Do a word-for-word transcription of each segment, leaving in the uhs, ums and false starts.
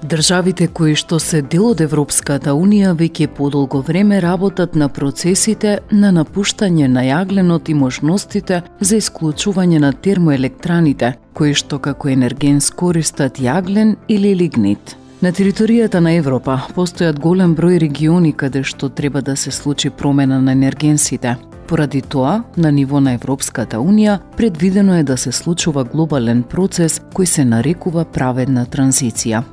Државите кои што се дел од Европската Унија веќе подолго време работат на процесите на напуштање на јагленот и можностите за исклучување на термоелектраните, кои што како енергенс користат јаглен или лигнит. На територијата на Европа постојат голем број региони каде што треба да се случи промена на енергенсите. Поради тоа, на ниво на Европската Унија, предвидено е да се случува глобален процес кој се нарекува праведна транзиција.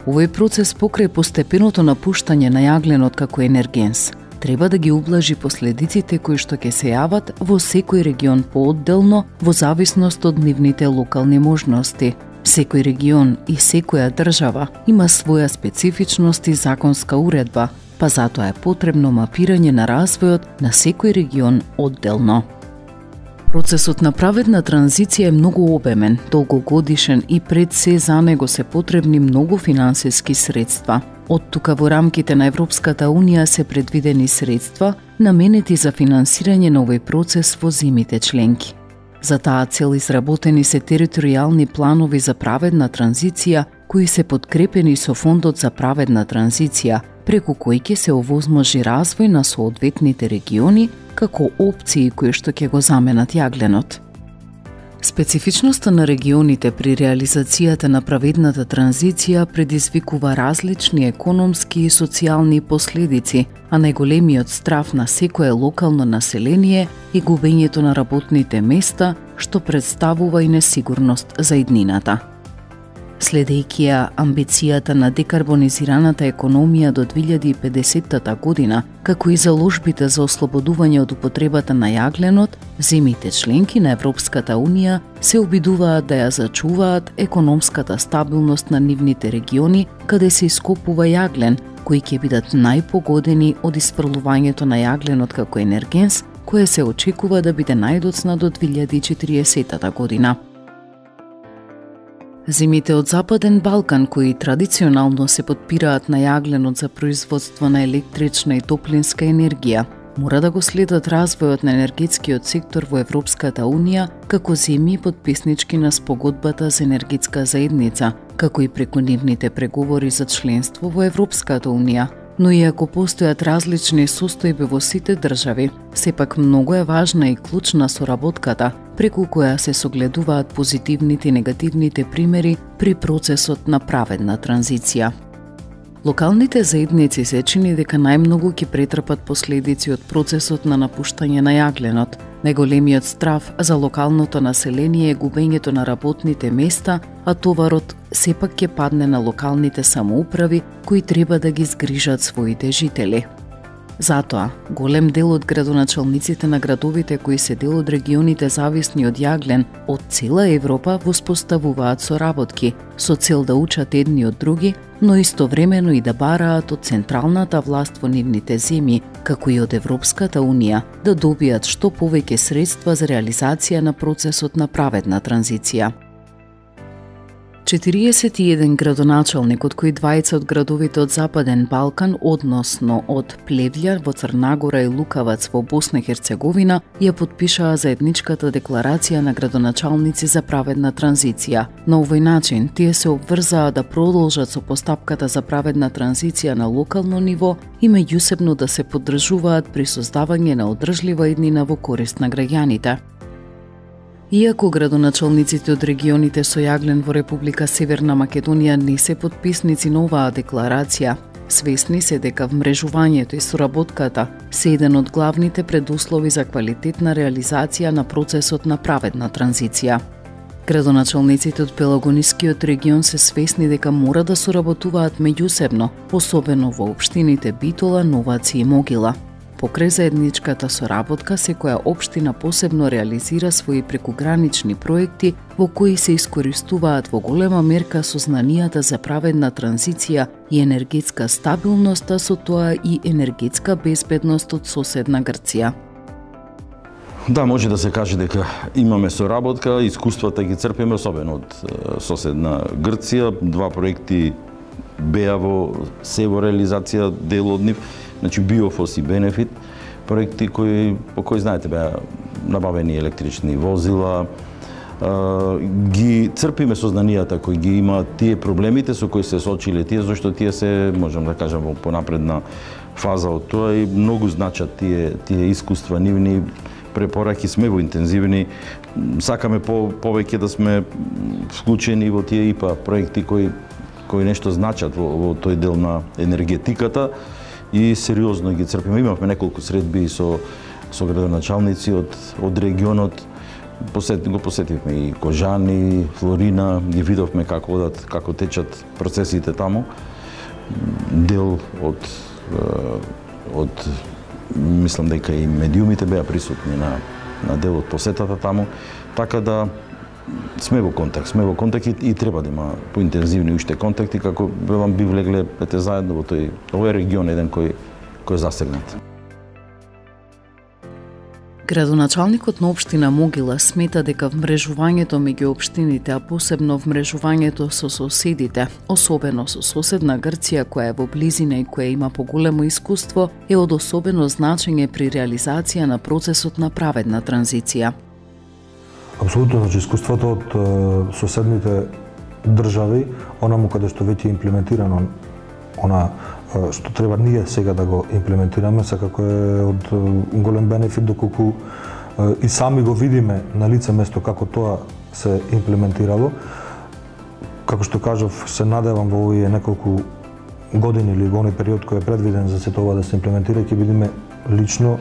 Овој процес покрај постепеното напуштање на јагленот како енергенс треба да ги ублажи последиците кои што ќе се јават во секој регион поодделно во зависност од нивните локални можности. Секој регион и секоја држава има своја специфичност и законска уредба, па затоа е потребно мапирање на развојот на секој регион одделно. Процесот на праведна транзиција е многу обемен, долгогодишен и пред се за него се потребни многу финансиски средства. Од тука во рамките на Европската Унија се предвидени средства наменети за финансирање на овој процес во земјите членки. За таа цел изработени се територијални планови за праведна транзиција кои се подкрепени со Фондот за праведна транзиција, преку кој ќе се овозможи развој на соодветните региони како опции кои што ќе го заменат јагленот. Специфичноста на регионите при реализацијата на праведната транзиција предизвикува различни економски и социјални последици, а најголемиот страв на секое локално население е губењето на работните места, што представува и несигурност за иднината. Следејќи ја амбицијата на декарбонизираната економија до две илјади и педесетта година, како и заложбите за ослободување од употребата на јагленот, земјите членки на Европската Унија се обидуваат да ја зачуваат економската стабилност на нивните региони каде се ископува јаглен, кои ќе бидат најпогодени од испрлувањето на јагленот како енергенс, кое се очекува да биде најдоцна до две илјади и четириесетта година. Земјите од Западен Балкан, кои традиционално се подпираат на јагленот за производство на електрична и топлинска енергија, мора да го следат развојот на енергетскиот сектор во Европската Унија како земји потписнички на спогодбата за енергетска заедница, како и преку нивните преговори за членство во Европската Унија. Но иако постојат различни состојби во сите држави, сепак многу е важна и клучна соработката, преку која се согледуваат позитивните и негативните примери при процесот на праведна транзиција. Локалните заедници се чини дека најмногу ќе претрпат последици од процесот на напуштање на јагленот. Најголемиот страв за локалното население е губењето на работните места, а товарот сепак ќе падне на локалните самоуправи кои треба да ги згрижат своите жители. Затоа, голем дел од градоначалниците на градовите кои се дел од регионите зависни од јаглен од цела Европа воспоставуваат соработки со цел да учат едни од други, но истовремено и да бараат од централната власт во нивните земји, како и од Европската Унија, да добијат што повеќе средства за реализација на процесот на праведна транзиција. четириесет и еден градоначалник, од кои двајца од градовите од Западен Балкан, односно од Плевља во Црнагора и Лукавац во Босна и Херцеговина, ја потпишаа заедничката декларација на градоначалници за праведна транзиција. На овој начин, тие се обврзаа да продолжат со постапката за праведна транзиција на локално ниво и меѓусебно да се поддржуваат при создавање на одржлива иднина во корист на граѓаните. Иако градоначалниците од регионите со јаглен во Република Северна Македонија не се потписници на оваа декларација, свесни се дека вмрежувањето и соработката се еден од главните предуслови за квалитетна реализација на процесот на праведна транзиција. Градоначалниците од Пелагонискиот регион се свесни дека мора да соработуваат меѓусебно, особено во општините Битола, Новаци и Могила. Покрај заедничката соработка, секоја општина посебно реализира своји прекугранични проекти во кои се искористуваат во голема мерка сознанијата за праведна транзиција и енергетска стабилност, а со тоа и енергетска безбедност од соседна Грција. Да, може да се каже дека имаме соработка, искуствата ги црпиме особено од соседна Грција. Два проекти беа во се во реализација, дел од нив. Значи Биофос и Бенефит, проекти кои, по кои знаете беа набавени електрични возила, ги црпиме сознанијата кои ги имаат тие проблемите со кои се соочиле тие, зашто тие се, можам да кажам, во понапредна фаза од тоа и многу значат тие тие искуства нивни, препораки, сме во интензивни, сакаме по, повеќе да сме вклучени во тие ИПА проекти кои кои нешто значат во, во тој дел на енергетиката и сериозно ги црпиме. Имавме неколку средби со со градоначалници од од регионот. Посет, го посетивме и Кожани, Флорина, ги видовме како одат, како течат процесите таму. Дел од од мислам дека и медиумите беа присутни на на дел од посетата таму, така да сме во контакт, сме во контакт и, и треба да има поинтензивни уште контакти како велам би влегле пете заедно во тој овој регион еден кој кој е засегнат. Градоначалникот на општина Могила смета дека вмрежувањето меѓу општините, а посебно вмрежувањето со соседите, особено со соседна Грција која е во близина и која има поголемо искуство, е од особено значење при реализација на процесот на праведна транзиција. Апсолутно, значи искуството од е, соседните држави, онаму каде што веќе е имплементирано она е, што треба ние сега да го имплементираме, секако е од е, голем бенефит доколку е, и сами го видиме на лице место како тоа се имплементирало. Како што кажав, се надевам во овие неколку години или во оној период кој е предвиден за сето ова да се имплементира, ќе видиме лично,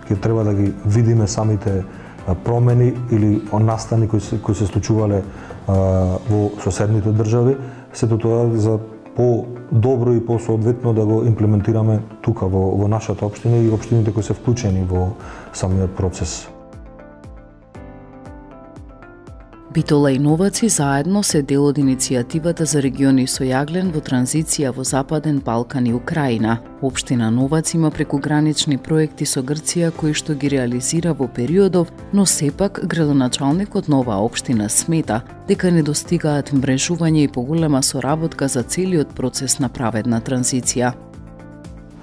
ќе треба да ги видиме самите промени или настани кои се, кои се случувале а, во соседните држави, сето тоа за по-добро и по-соодветно да го имплементираме тука во, во нашата општина и општините кои се вклучени во самиот процес. Битола и Новаци заедно се дел од иницијативата за региони со јаглен во транзиција во Западен Балкан и Украина. Општина Новац има прекугранични проекти со Грција кои што ги реализира во периодов, но сепак градоначалникот на оваа општина смета дека не достигаат мрежување и поголема соработка за целиот процес на праведна транзиција.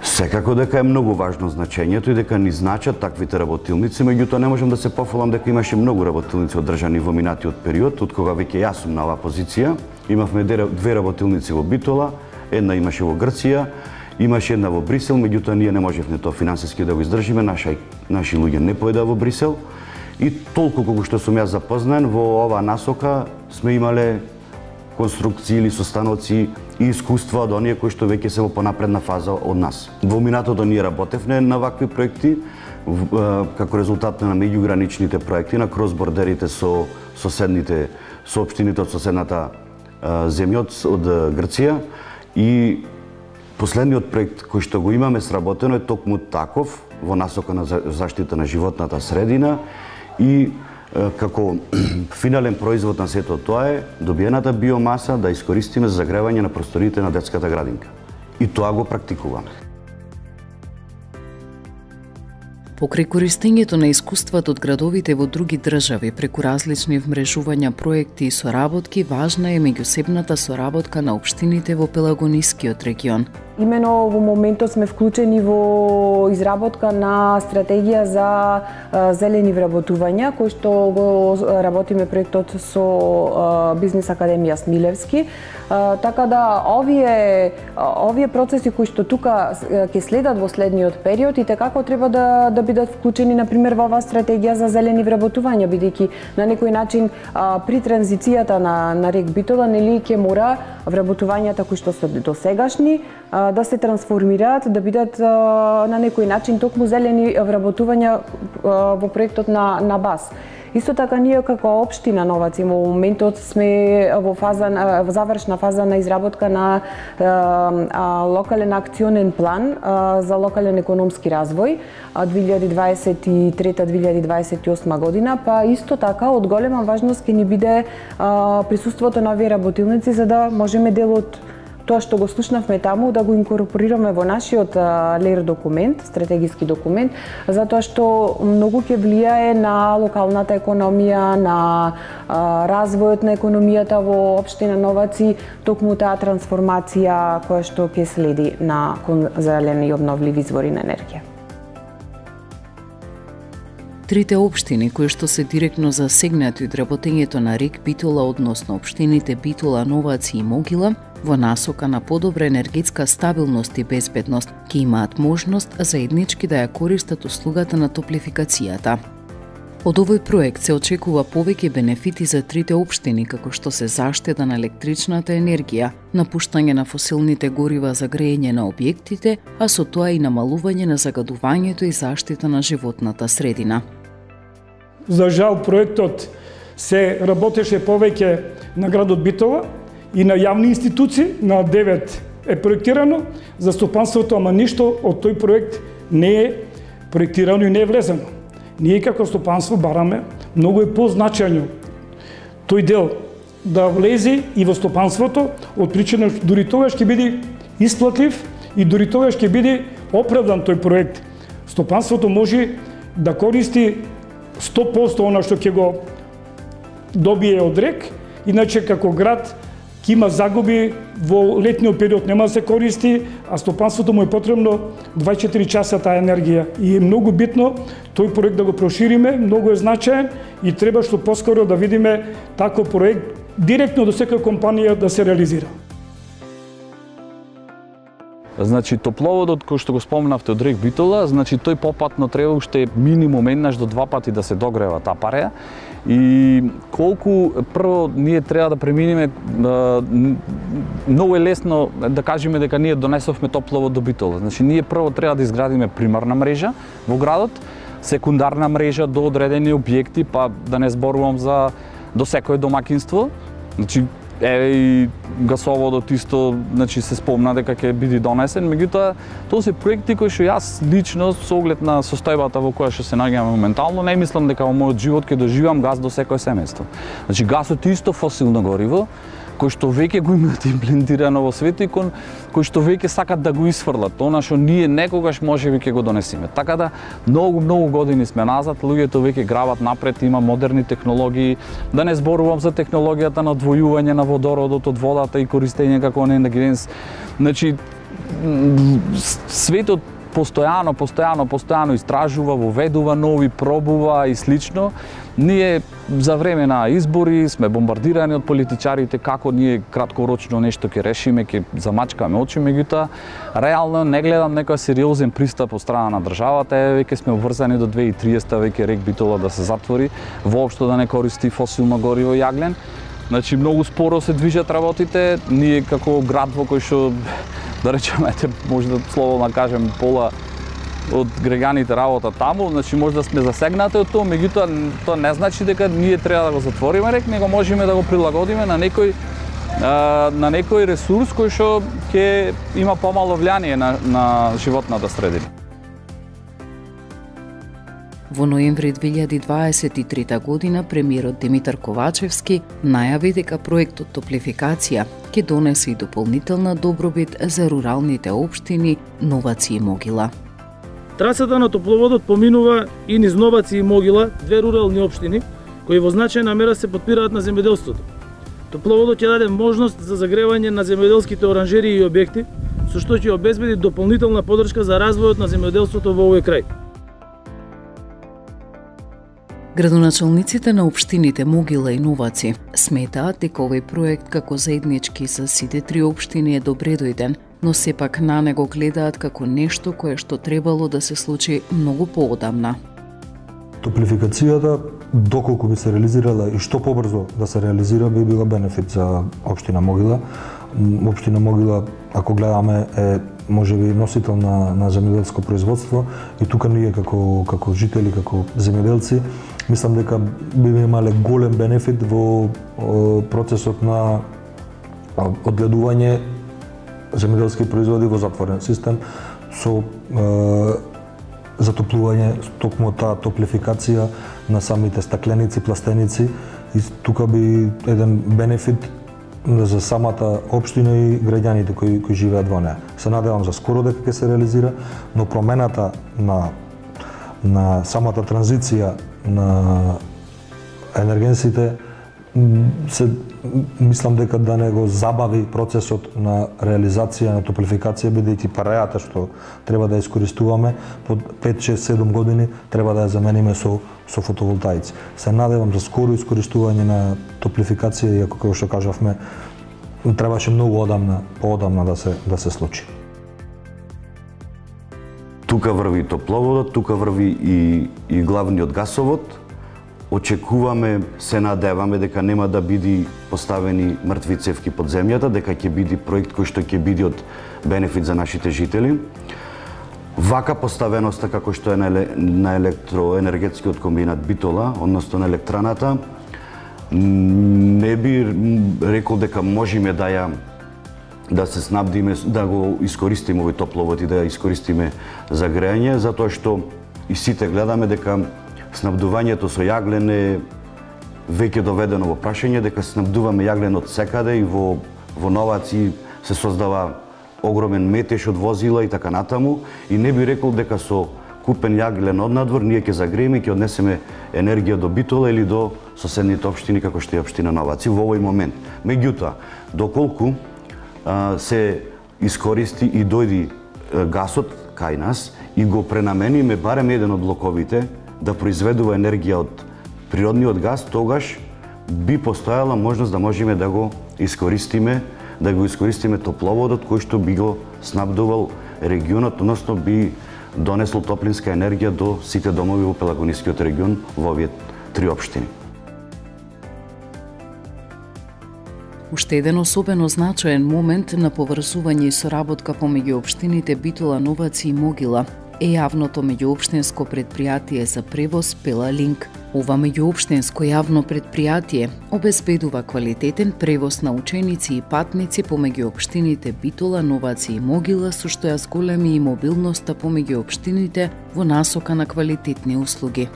Секако дека е многу важно значењето и дека ни значат таквите работилници, меѓутоа не можам да се пофалам дека имаше многу работилници одржани во минатиот период, од кога веќе јас сум на оваа позиција. Имавме две работилници во Битола, една имаше во Грција, имаше една во Брисел, меѓутоа ние не можевме тоа финансиски да го издржиме, наши, наши луѓе не поеда во Брисел. И толку колку што сум јас запознаен во оваа насока сме имале конструкции или состаноци и искуства од оние кои што веќе се во понапредна фаза од нас. Во минатото ние работевме на вакви проекти како резултат на меѓуграничните проекти на кросбордерите со соседните со општините од соседната земја од Грција и последниот проект кој што го имаме сработено е токму таков во насока на заштита на животната средина и како финален производ на сето тоа е добиената биомаса да искористиме за загревање на просторите на детската градинка. И тоа го практикуваме. Покрај користењето на искуствата од градовите во други држави преку различни вмрежувања, проекти и соработки, важна е меѓусебната соработка на општините во Пелагонискиот регион. Имено во моментот сме вклучени во изработка на стратегија за зелени вработувања, кој што го работиме проектот со Бизнес Академија Смилевски. Така да овие овие процеси кои што тука ќе следат во следниот период и како треба да да бидат вклучени на пример во оваа стратегија за зелени вработувања, бидејќи на некој начин при транзицијата на на рек Битола нели ќе мора вработувањата кои што се досегашни да се трансформираат, да бидат на некој начин токму зелени вработувања во проектот на на БАС. Исто така ние како општина Новац во моментот сме во фаза во завршна фаза на изработка на а, локален акционен план а, за локален економски развој две илјади дваесет и трета до две илјади дваесет и осма година, па исто така од голема важност ќе ни биде а, присуството на овие работилници за да можеме дел од тоа што го слушнавме таму да го инкорпорираме во нашиот ЛЕР документ, стратегиски документ, затоа што многу ќе влијае на локалната економија, на а, развојот на економијата во општина Новаци, токму таа трансформација која што ќе следи на кон зелени и обновливи извори на енергија. Трите општини кои што се директно засегнати од работењето на РЕК Битола, односно општините Битола, Новаци и Могила, во насока на подобра енергетска стабилност и безбедност, ќе имаат можност заеднички да ја користат услугата на топлификацијата. Од овој проект се очекува повеќе бенефити за трите општини, како што се заштеда на електричната енергија, напуштање на фосилните горива за грејење на објектите, а со тоа и намалување на загадувањето и заштита на животната средина. За жал, проектот се работеше повеќе на градот Битола и на јавни институции, на девет е проектирано за стопанството, ама ништо од тој проект не е проектирано и не е влезено. Ние како стопанство бараме многу е позначајно тој дел да влезе и во стопанството, од причина дури тогаш ќе биде исплатлив и дури тогаш ќе биде оправдан тој проект. Стопанството може да користи сто проценти она што ќе го добие од РЕК, иначе како град ќе има загуби, во летниот период нема да се користи, а стопанството му е потребно дваесет и четири часа таа енергија. И е многу битно тој проект да го прошириме, многу е значаен и треба што поскоро да видиме таков проект директно до секоја компанија да се реализира. Значи, топловодот кој што го спомнавте од РЕК Битола, значи тој попатно треба уште минимум еднаш до два пати да се догрева таа пареја. И колку прво ние треба да преминеме, многу е лесно да кажеме дека ние донесовме топловод до Битола. Значи ние прво треба да изградиме примарна мрежа во градот, секундарна мрежа до одредени објекти, па да не зборувам за до секое домакинство. Значи еве и гасоводот исто, значи се спомна дека ќе биде донесен, меѓутоа тоа се проекти кои што јас лично со оглед на состојбата во која што се наоѓаме моментално не мислам дека во мојот живот ќе доживам газ до секое семејство. Значи газот е исто фосилно гориво кој што веќе го имаат имплементирано во светот и кој што веќе сакат да го исфрлат, она што ние некогаш можеби ќе го донесеме. Така да многу многу години сме назад, луѓето веќе грабат напред, има модерни технологии, да не зборувам за технологијата на одвојување на водородот од водата и користење како енергенс. Значи светот постојано, постојано, постојано истражува, воведува нови, пробува и слично. Ние за време на избори сме бомбардирани од политичарите како ние краткорочно нешто ќе решиме, ќе замачкаме очи, меѓутоа реално не гледам некој сериозен пристап од страна на државата. Е, веќе сме обврзани до две тисачи и триесета, веќе РЕК Битола да се затвори, воопшто да не користи фосилно гориво јаглен. Значи многу споро се движат работите. Ние како град во кој што да речеме, може да слободно кажем пола од граѓаните работа таму, значи може да сме засегнати од тоа, меѓутоа тоа не значи дека ние треба да го затвориме РЕК, него можеме да го прилагодиме на некој на некој ресурс кој што ќе има помало влијание на на животната средина. Во ноември две илјади дваесет и трета година премиерот Димитар Ковачевски најави дека проектот Топлификација ќе донесе и дополнителна добробит за руралните општини Новаци и Могила. Трасата на топловодот поминува и низ Новаци и Могила, две рурални општини, кои во значајна мера се потпираат на земјоделството. Топловодот ќе даде можност за загревање на земјоделските оранжерии и објекти, со што ќе обезбеди дополнителна поддршка за развојот на земјоделството во овој крај. Градоначалниците на општините Могила и Новаци сметаат дека овој проект како заеднички за сите три општини е добре дојден, но сепак на него гледаат како нешто кое што требало да се случи многу поодамна. Топлификацијата, доколку би се реализирала и што побрзо да се реализира, би била бенефит за општина Могила. Општина Могила, ако гледаме, е можеби носител на, на земјоделско производство и тука ние како, како жители, како земјоделци, мислам дека би имале голем бенефит во процесот на одгледување земјоделски производи во затворен систем со е, затоплување, токму таа топлификација на самите стакленици, пластеници и тука би еден бенефит за самата општина и граѓаните кои, кои живеат во неа. Се надевам за скоро дека ќе се реализира, но промената на, на самата транзиција на енергенсите се мислам дека да не го забави процесот на реализација на топлификација, бидејќи парајата што треба да искористуваме под пет, шест, седум години треба да ја замениме со со фотоволтаици. Се надевам за скоро искористување на топлификација, иако како што кажавме требаше многу одамна, поодамна да се да се случи. Тука врви топловодот, тука врви и и главниот гасовод. Очекуваме, се надеваме дека нема да биде поставени мртви цевки под земјата, дека ќе биде проект кој што ќе биде од бенефит за нашите жители. Вака поставеноста како што е на електроенергетскиот комбинат Битола, односно на електраната, не би рекол дека можеме да ја да се снабдиме, да го искористиме овој топловод и да ја искористиме за грејање, затоа што и сите гледаме дека снабдувањето со јаглен е веќе доведено во прашање, дека снабдуваме јаглен од секаде и во во Новаци се создава огромен метеж од возила и така натаму, и не би рекол дека со купен јаглен од надвор ние ќе загрееме и ќе однесеме енергија до Битола или до соседните општини како што е општина Новаци во овој момент. Меѓутоа, доколку а, се искористи и дојди а, гасот кај нас и го пренамениме барем еден од блоковите да произведува енергија од природниот газ, тогаш би постојала можност да можеме да го искористиме, да го искористиме топловодот кој што би го снабдувал регионот, односно би донесло топлинска енергија до сите домови во Пелагонискиот регион во овие три општини. Уште еден особено значаен момент на поврзување и соработка помеѓу општините Битола, Новаци и Могила е јавното меѓуопштинско предпријатие за превоз Пелалинк. Ова меѓуопштинско јавно предпријатие обезбедува квалитетен превоз на ученици и патници помеѓу општините Битола, Новаци и Могила, со што ја зголеми и мобилноста помеѓу општините во насока на квалитетни услуги.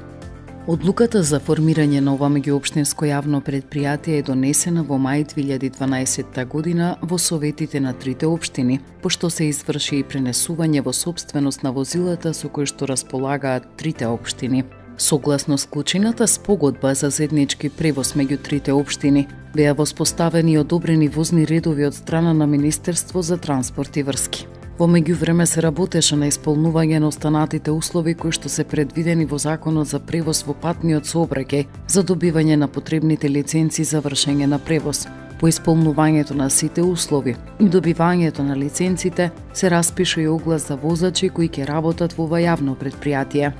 Одлуката за формирање на ова меѓуопштинско јавно предпријатие е донесена во мај две илјади и дванаесетта година во советите на трите општини, пошто се изврши и пренесување во сопственост на возилата со кои што располагаат трите општини. Согласно склучената спогодба за заеднички превоз меѓу трите општини, беа воспоставени и одобрени возни редови од страна на Министерство за транспорт и врски. Во меѓувреме се работеше на исполнување на останатите услови кои што се предвидени во Законот за превоз во патниот сообраќај за добивање на потребните лиценци за вршење на превоз. По исполнувањето на сите услови и добивањето на лиценците се распиша и оглас за возачи кои ќе работат во ова јавно предпријатие.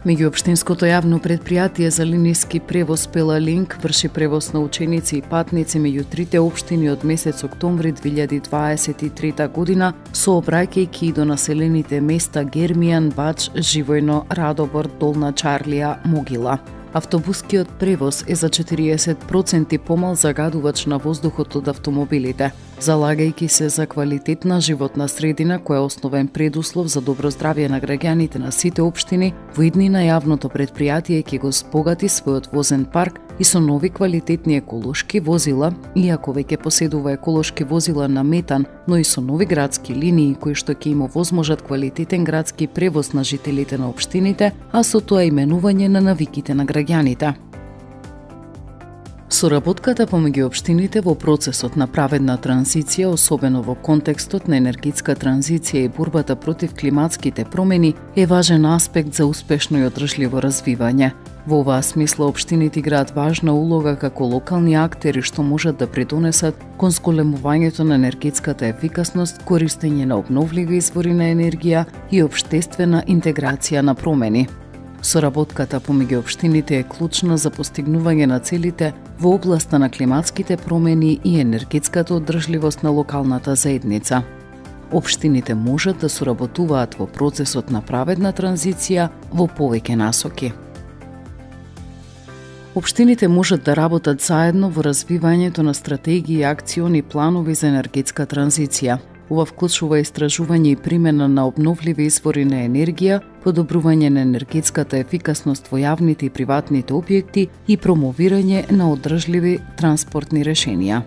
Меѓуопштинското јавно предпријатие за линиски превоз Пелалинк врши превоз на ученици и патници меѓу трите општини од месец октомври две илјади дваесет и трета година, сообраќајќи и до населените места Гермијан, Бач, Живојно, Радобор, Долна Чарлија, Могила. Автобускиот превоз е за четириесет проценти помал загадувач на воздухот од автомобилите, залагајќи се за квалитетна животна средина која е основен предуслов за добро здравје на граѓаните на сите општини. Во иднина јавното предпријатие ќе го спогати својот возен парк и со нови квалитетни еколошки возила, иако веќе поседува еколошки возила на метан, но и со нови градски линии кои што ќе им овозможат квалитетен градски превоз на жителите на општините, а со тоа именување на навиките на граѓаните. Соработката помеѓу општините во процесот на праведна транзиција, особено во контекстот на енергетска транзиција и борбата против климатските промени, е важен аспект за успешно и одржливо развивање. Во оваа смисла општините играат важна улога како локални актери што можат да придонесат кон зголемувањето на енергетската ефикасност, користење на обновливи извори на енергија и општествена интеграција на промени. Соработката помеѓу општините е клучна за постигнување на целите во областа на климатските промени и енергетската одржливост на локалната заедница. Општините можат да соработуваат во процесот на праведна транзиција во повеќе насоки. Општините можат да работат заедно во развивањето на стратегии и акциони планови за енергетска транзиција. Ова вклучува истражување и примена на обновливи извори на енергија, подобрување на енергетската ефикасност во јавните и приватните објекти и промовирање на одржливи транспортни решенија.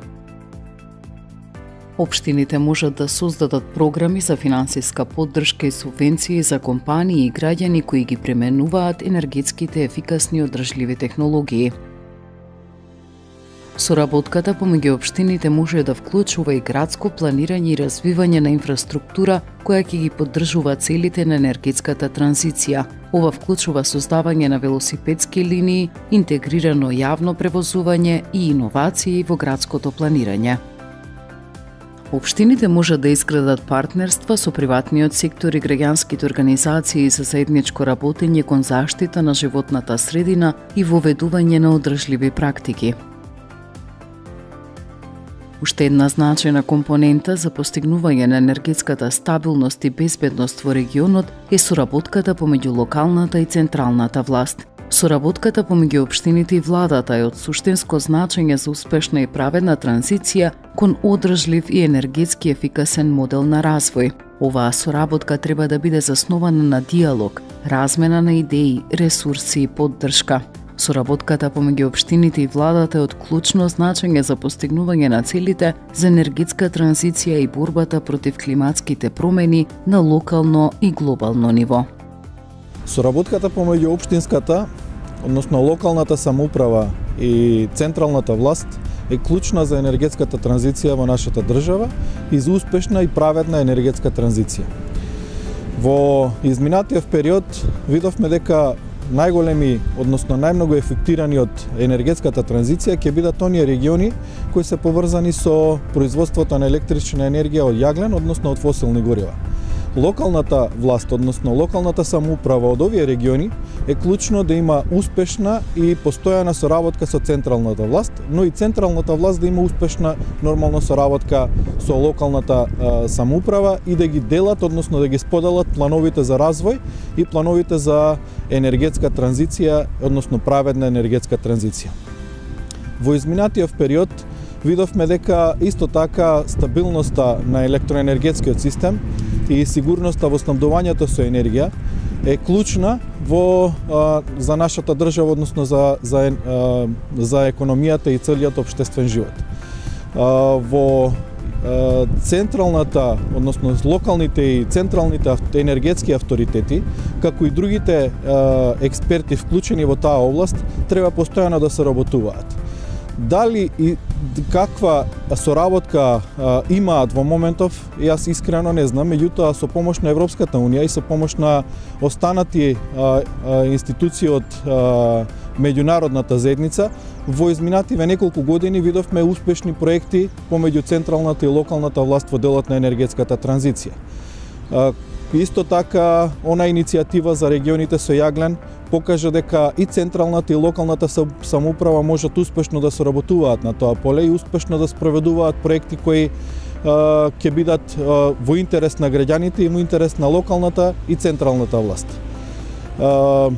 Општините можат да создадат програми за финансиска поддршка и субвенции за компании и граѓани кои ги применуваат енергетските ефикасни и одржливи технологии. Соработката помеѓу општините може да вклучува и градско планирање и развивање на инфраструктура која ќе ги поддржува целите на енергетската транзиција. Ова вклучува создавање на велосипедски линии, интегрирано јавно превозување и иновации во градското планирање. Општините можат да изградат партнерства со приватниот сектор и граѓанските организации за заедничко работење кон заштита на животната средина и воведување на одржливи практики. Уште една значајна компонента за постигнување на енергетската стабилност и безбедност во регионот е соработката помеѓу локалната и централната власт. Соработката помеѓу општините и владата е од суштинско значење за успешна и праведна транзиција кон одржлив и енергетски ефикасен модел на развој. Оваа соработка треба да биде заснована на диалог, размена на идеи, ресурси и поддршка. Соработката помеѓу општините и владата е од клучно значење за постигнување на целите за енергетска транзиција и борбата против климатските промени на локално и глобално ниво. Соработката помеѓу општинската, односно локалната самоуправа и централната власт е клучна за енергетската транзиција во нашата држава и за успешна и праведна енергетска транзиција. Во изминатиот период видовме дека најголеми, односно најмногу ефектирани од енергетската транзиција ќе бидат оние региони кои се поврзани со производството на електрична енергија од јаглен, односно од фосилни горива. Локалната власт, односно локалната самоуправа од овие региони е клучно да има успешна и постојана соработка со централната власт, но и централната власт да има успешна нормална соработка со локалната а, самоуправа и да ги делат, односно да ги споделат плановите за развој и плановите за енергетска транзиција, односно праведна енергетска транзиција. Во изминатиот период видовме дека исто така стабилноста на електроенергетскиот систем и сигурноста во снабдувањето со енергија е клучна во а, за нашата држава, односно за за а, за економијата и целиот општествен живот. А, во а, централната, односно локалните и централните енергетски авторитети, како и другите а, експерти вклучени во таа област, треба постојано да се работуваат. Дали и каква соработка а, имаат во моментов, јас искрено не знам, меѓутоа со помош на Европската унија и со помош на останати а, а, институции од а, меѓународната заедница, во изминативе неколку години видовме успешни проекти помеѓу централната и локалната власт во делот на енергетската транзиција. А, исто така, она иницијатива за регионите со јаглен покажа дека и централната и локалната самоуправа можат успешно да соработуваат на тоа поле и успешно да спроведуваат проекти кои а, ќе бидат а, во интерес на граѓаните и во интерес на локалната и централната власт. А,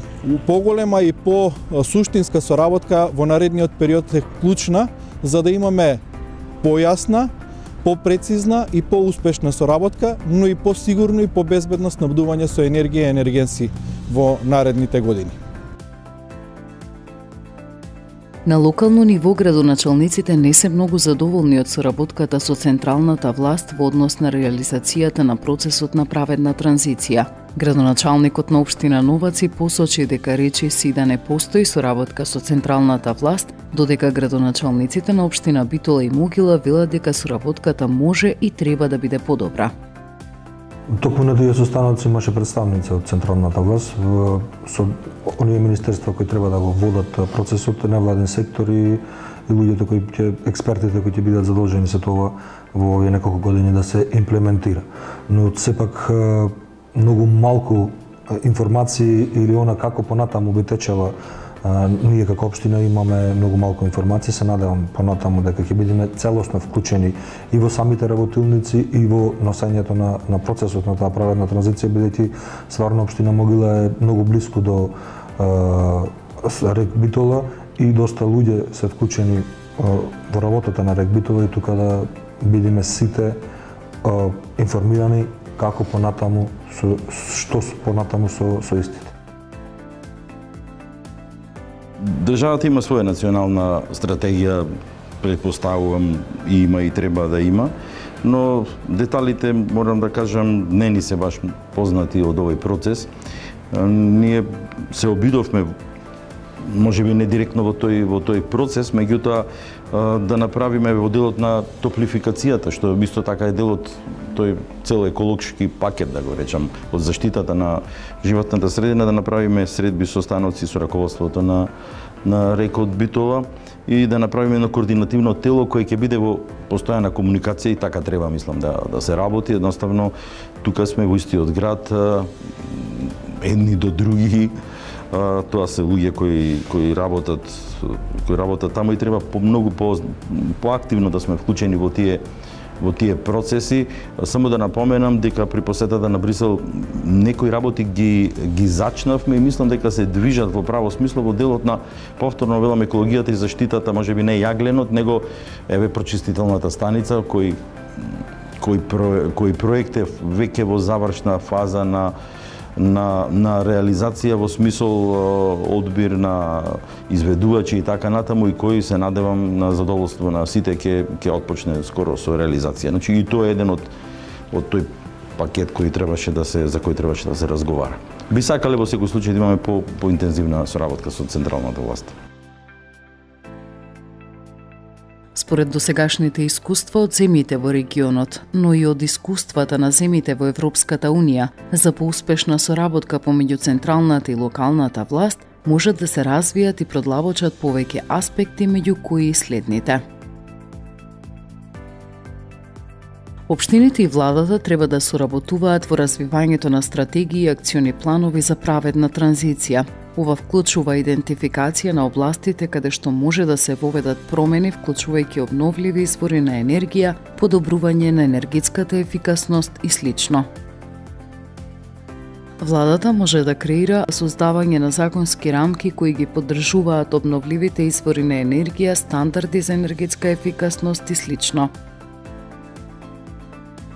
поголема и по суштинска соработка во наредниот период е клучна за да имаме појасна, попрецизна и поуспешна соработка, но и посигурно и побезбедно снабдување со енергија и енергенси во наредните години. На локално ниво градоначалниците не се многу задоволни од соработката со централната власт во однос на реализацијата на процесот на праведна транзиција. Градоначалникот на општина Новаци посочи дека речиси да не постои соработка со централната власт, додека градоначалниците на општина Битола и Могила велат дека соработката може и треба да биде подобра. Токму на тие состаноци имаше представници од централната власт со оние министерства кои треба да го водат процесот, невладен сектор и, и луѓето кои ќе експертите кои ќе бидат задолжени за тоа во овие неколку години да се имплементира. Но сепак многу малку информации или она како понатаму би течела. Ние како општина имаме многу малку информации, се надевам понатаму дека ќе бидеме целосно вклучени и во самите работилници и во носењето на, на процесот на таа праведна транзиција, бидејќи стварно општина Могила е многу блиску до е, рек Битола и доста луѓе се вклучени е, во работата на рек Битола и тука да бидеме сите е, информирани како понатаму со што понатаму со со истите. Државата има своја национална стратегија, предпоставувам и има и треба да има, но деталите, морам да кажам, не ни се баш познати од овој процес. Ние се обидовме можеби не директно во тој во тој процес, меѓутоа да направиме во делот на топлификацијата, што исто така е дел од тој цел екологски пакет, да го речам, од заштитата на животната средина, да направиме средби со становци со раководството на на рекот Битола и да направиме едно координативно тело кое ќе биде во постојана комуникација и така треба, мислам, да да се работи. Едноставно тука сме во истиот град, едни до други. Тоа се луѓе кои кои работат кои работат таму и треба по многу по поактивно да сме вклучени во тие во тие процеси. Само да напоменам дека при посетата на Брисел некои работи ги ги зачнавме и мислам дека се движат во право смисло во делот на, повторно велам, екологијата и заштитата, можеби не јагленот, него еве прочистителната станица кој кој кој проект е веќе во завршна фаза на на на реализација во смисол одбир на изведувачи и така натаму, и кои се надевам на задоволство на сите ќе ќе отпочне скоро со реализација. Значи и тоа е еден од од тој пакет кој требаше да се за кој требаше да се разговара. Би сакале во секој случај да имаме по поинтензивна соработка со централната власт. Според досегашните искуства од земјите во регионот, но и од искуствата на земјите во Европската Унија, за поуспешна соработка помеѓу централната и локалната власт можат да се развијат и продлабочат повеќе аспекти, меѓу кои и следните. Општините и владата треба да соработуваат во развивањето на стратегии и акциони планови за праведна транзиција. Ова вклучува идентификација на областите каде што може да се воведат промени, вклучувајќи обновливи извори на енергија, подобрување на енергетската ефикасност и слично. Владата може да креира создавање на законски рамки кои ги поддржуваат обновливите извори на енергија, стандарди за енергетска ефикасност и слично.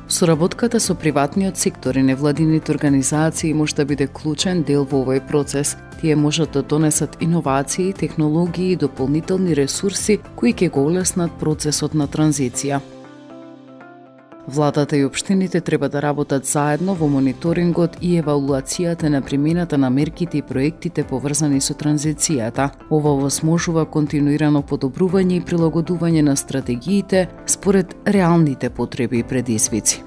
Соработката со приватниот сектор и невладините организации може да биде клучен дел во овој процес. Тие можат да донесат иновации, технологии и дополнителни ресурси кои ќе го олеснат процесот на транзиција. Владата и општините треба да работат заедно во мониторингот и евалуацијата на примената на мерките и проектите поврзани со транзицијата. Ова овозможува континуирано подобрување и прилагодување на стратегиите според реалните потреби и предизвици.